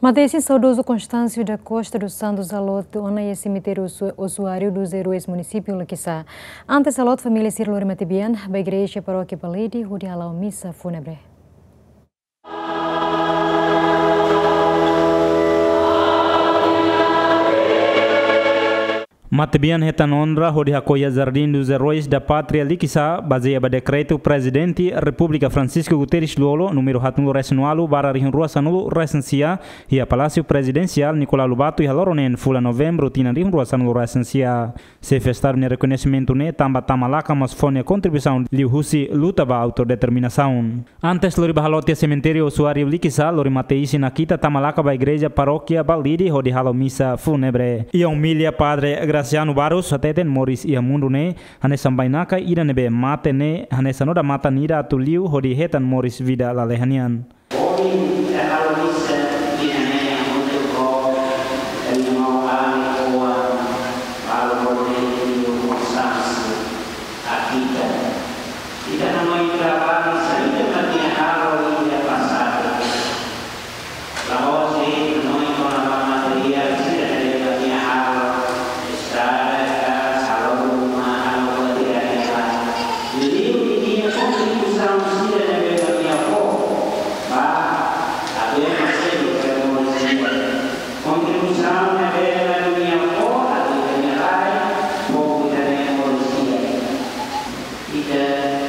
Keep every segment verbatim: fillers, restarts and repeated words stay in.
Mate-isin saudozu Constâncio da Costa dos Santos haloot ona iha semitériu Osu-, Osuário dos Heróis, munisípiu Liquiçá. Antes haloot, família sira lori matebian ba igreja parókia Balide, hodi hala'o misa fúnebre. Matebian hetan onra hodi hakoi iha Jardim dos Heróis da Pátria Liquiçá, bazeia ba dekretu Prezidente Repúblika Francisco Guterres Lú-Olo, númeru haatnulu-resin-ualu barra rihun rua sanulu-resin-sia, iha Palásiu Prezidensiál Nicolau Lobato, iha loron neen fulan Novembru tinan rihun rua sanulu-resin-sia. Xefe Estadu nia rekoñesimentu ne'e tanba Tama Laka mós fó nia kontribuisaun liuhusi luta ba autodeterminasaun. Antes lori ba haloot iha semitériu Osuário Liquiçá, lori mate-isin nakita Tama Laka ba igreja parókia Balide hodi halo misa fúnebre. Iha omilia, Padre Graciano Barros hateten moris iha mundu ne'e hanesan bainaka ida ne'ebé mate ne'e hanesan odamatan ida atu liu hodi hetan moris vida lalehan nian. Ohin ita halo misa ida-ne'e hamutuk ho ita-nia maun-alin oan, Paulo Cornélio Constâncio Akita. Ita hanoin traballu saida mak nia halo iha pasadu. La'ós de'it hanoin kona-ba materiál sira ne'ebé mak nia halo, estrada ka, halo ruma, halo buat ida-ne'e. Liuliu nia kontribuisaun sira ne'ebé mak nia fó ba, até masih bukan manusia. Kontribuisaun ne'ebé mak nia fó, atu ita-nia rai, fó ita-nia manusia. Ita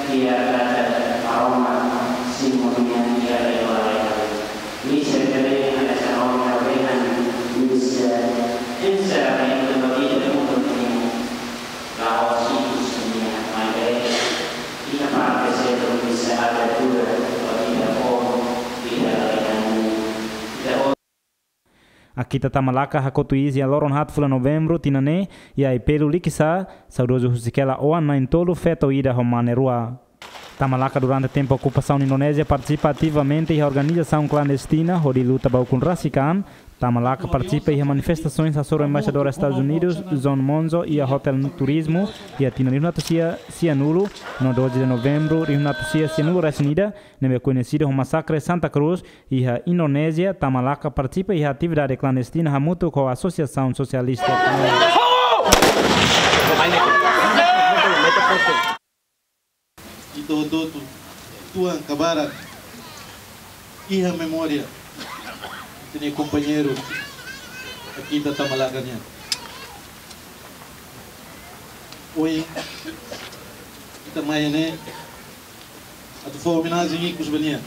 iha data Maromak simu nia iha lewa lewa. Misa ida-ne'e hanesan ohin ha'u dehan, misa enserramentu ba ita mundu nian. La'ós ikus nian, maibé ita parte seluk misa abertura ba ita povu, ita lalehan, ita Akita Tama Laka hakotu iis iha loron haat fulan Novembru tinan ne'e, iha Aipelu Liquiçá, saudozu husik hela oan na'in-tolu, feto ida ho mane rua. Tama Laka durante tempu okupasaun Indonézia partisipa ativamente iha organizasaun klandestina hodi luta ba ukun rasik an. Tama Laka partisipa iha manifestasoens hasoru Embaixadór Estadus Unidus, John Monzo, iha Hotel Turismo, iha tinan rihun atus sia sianulu, no doze de Novembru rihun atus sia sianulu-resin-ida, ne'ebé koñesidu ho Masakre Santa Cruz, iha Indonézia. Tama Laka partisipa iha atividade klandestina hamutuk ho Asosiasaun Sosialista. Ita hotu-hotu, tuan ka barak, iha memória ita-nia kompañeiru Akita Tama Laka nian. Ohin ita mai ne'e atu fó omenajen ikus ba nia,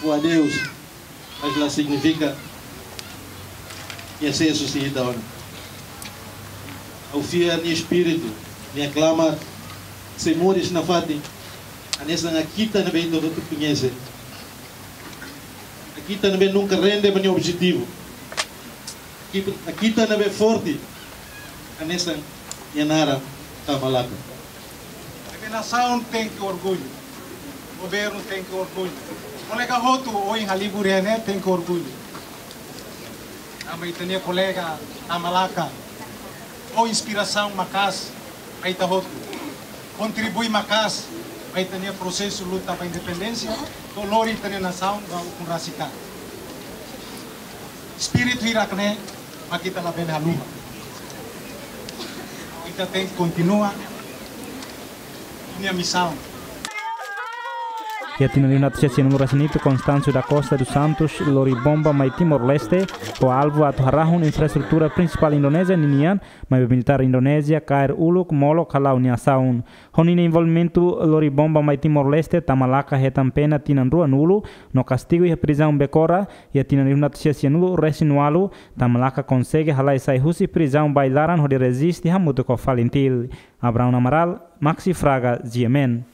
fó adeus, mas la signifika nia sesu sei ita ona. Ha'u fiar nia espíritu, nia klamar sei moris nafatin, hanesan Akita ne'ebé ita hotu koñese. Akita ne'ebé nunka rende ba nia objetivu. Akita, Akita ne'ebé forte, hanesan nia naran Tama Laka. Ita-nia nasaun tenke orgullu. Governu tenke orgullu. Kolega hotu ohin halibur iha ne'e tenke orgullu. Tanba ita-nia kolega Tama Laka fó inspirasaun maka'as ba ita hotu. Kontribui maka'as ba ita-nia prosesu luta ba independénsia, no lori ita-nia nasaun ba ukun rasik an. Espíritu hirak ne'e mak ita labele haluha. Ita tenke kontinua ita-nia misaun. Iha tinan rihun atus sia sianulu-resin-hitu, Constâncio da Costa dos Santos lori bomba mai Timor-Leste, ho alvu atu harahun infraestrutura prinsipál Indonézia ninian, maibé militár Indonézia kaer uluk molok hala'o nia asaun. Ho ninia envolvimentu lori bomba mai Timor-Leste, Tama Laka hetan pena tinan ruanulu, no kastigu iha prizaun Becora. Iha tinan rihun atus sia sianulu-resin-ualu, Tama Laka konsege halai sai husi prizaun ba ai-laran hodi reziste hamutuk ho FALINTIL. Abraão Amaral, Maxi Fraga, G M N.